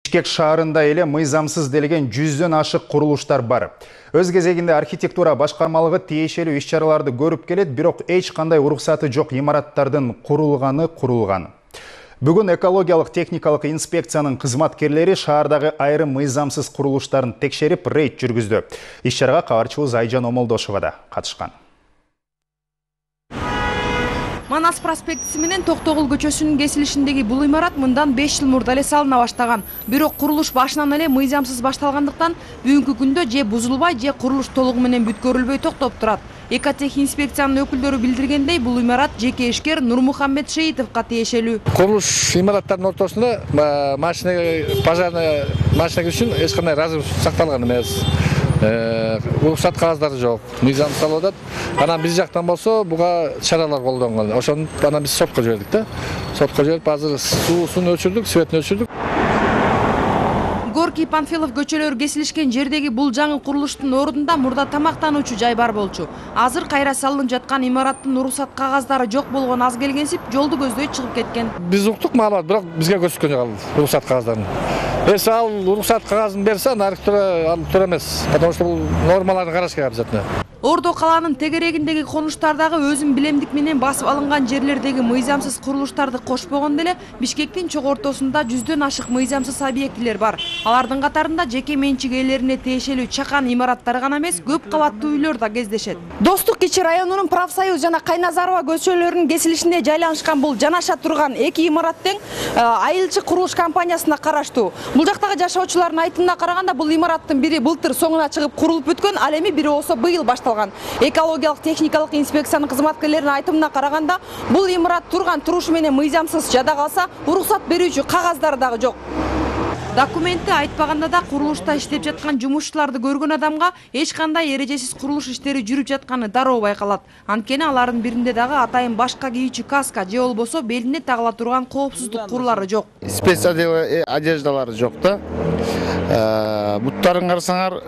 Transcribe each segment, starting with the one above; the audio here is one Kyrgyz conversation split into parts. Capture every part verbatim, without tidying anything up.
Бишкек шаарында эле мыйзамсыз делеген жүздөн ашык курулуштар бар. Өз кезегинде архитектура башкармалыгы тиешелүү иш-чараларды көрүп келет, бирок эч кандай уруксаты жок имараттардын курулганы курулган. Бүгүн экологиялык техникалык инспекциянын кызматкерлери шаардагы айрым мыйзамсыз курулуштарын текшерип, рейд жүргүздү. Иш-чарага кабарчыбыз Айжан Омолдошова да катышкан. Манас проспектиси менен Токтогул көчөсүнүн кесилишиндеги бул имарат мындан беш жыл мурда эле салына баштаган. Бирок курулуш башынан эле мыйзамсыз башталгандыктан бүгүнкү күндө же бузулбай, же курулуш толугу менен бүткөрүлбөй токтоп турат. Экотех инспекциянын өкүлдөрү билдиргендей, бул имарат жеке ишкер Нурмухаммед Шеитовго тиешелүү. Курулуш имараттардын ортосунда машина пожарный машина үчүн эч кандай разрыв сакталган эмес. Уруксат кагаздары жок, мыйзам салып атат. Анан биз жактан болсо буга чаралар колдонгон. Ошону анан биз сотко жибердик да. Сотко жиберип, азыр суусун өчүрдүк, светин өчүрдүк. Горький Панфилов көчөлөрү кесилишкен жердеги бул жаңы курулуштун ордунда мурда тамактануучу жай бар болчу. Азыр кайра салынып жаткан имараттын уруксат кагаздары жок болгон аз келгенсип, жолду көздөй чыгып кеткен. Биз уктук маалымат, бирок бизге көрсөткөн жок ал уруксат кагаздарын. Эс ал уруксат кагазын берсе, архитектура ал туура эмес, потому что бул нормаларды караш керек обязательно. Ордо калаанын тегерегиндеги конуштардагы өзүн билемдик менен басып алынган жерлердеги мыйзамсыз курулуштарды кошпогондо эле Бишкектин чок ортосунда жүздөн ашык мыйзамсыз объектилер бар. Алардын катарында жеке менчик ээлерине тиешелүү чакан имараттар гана эмес, көп кабаттуу үйлөр да кездешет. Достук кичи районунун Профсоюз жана Кайназарова көчөлөрүнүн кесилишинде жайланышкан бул жанаша турган эки имарат тең Айылчы курулуш компаниясына караштуу. Бул жактагы жашоочулардын айтымына караганда, бул имараттын бири былтыр соңуна чыгып курулуп бүткөн, ал эми бири болсо быйыл башталган. Экологиялык техникалык инспекциянын кызматкерлеринин айтымына караганда, бул имарат турган турушу менен мыйзамсыз, жада калса уруксат берүүчү кагаздары дагы жок. Документти айтпаганда да курулушта иштеп жаткан жумушчуларды көргөн адамга эч кандай эрежесиз курулуш иштери жүрүп жатканы дароо байкалат. Анткени алардын биринде дагы атайын башка кийүүчү каска же болбосо белине тагыла турган коопсуздук курлары жок. Спец одеждалары жок да. Буттарын карасаңар,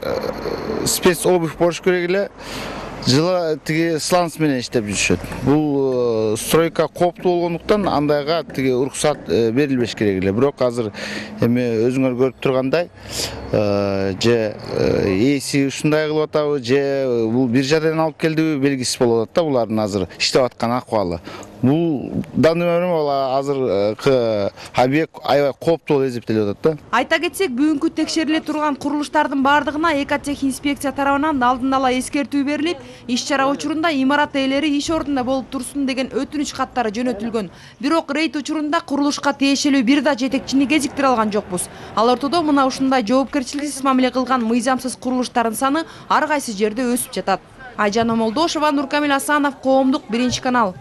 спец обувь болуш керек эле. Жылы тиги сланц менен иштеп жүрүшөт. Бул стройка кооптуу болгондуктан андайга тиги уруксат берилбеш керек эле. Бирок азыр эми өзүңөр көрүп тургандай, же ээси ушундай кылып атабы, же бул бир жадан алып келдиби белгисиз болуп атат да булардын азыр иштеп аткан акыбалы. Бул данный момент азыр объект аябай кооптуу болуп эсептелип атат да. Айта кетсек, бүгүнкү текшериле турган курулуштардын бардыгына Экотех инспекция тарабынан алдын ала эскертүү берилип, иш-чара учурунда имарат ээлери иш ордунда болуп турсун деген өтүнүч каттары жөнөтүлгөн. Бирок рейд учурунда курулушка тиешелүү бир да жетекчини кезиктире алган жокпуз. Ал ортодо мына ушундай жоопкерчиликсиз мамиле кылган мыйзамсыз курулуштардын саны ар кайсы жерде өсүп жатат. Айжан Омолдошова, Нуркамил Асанов, Коомдук биринчи канал.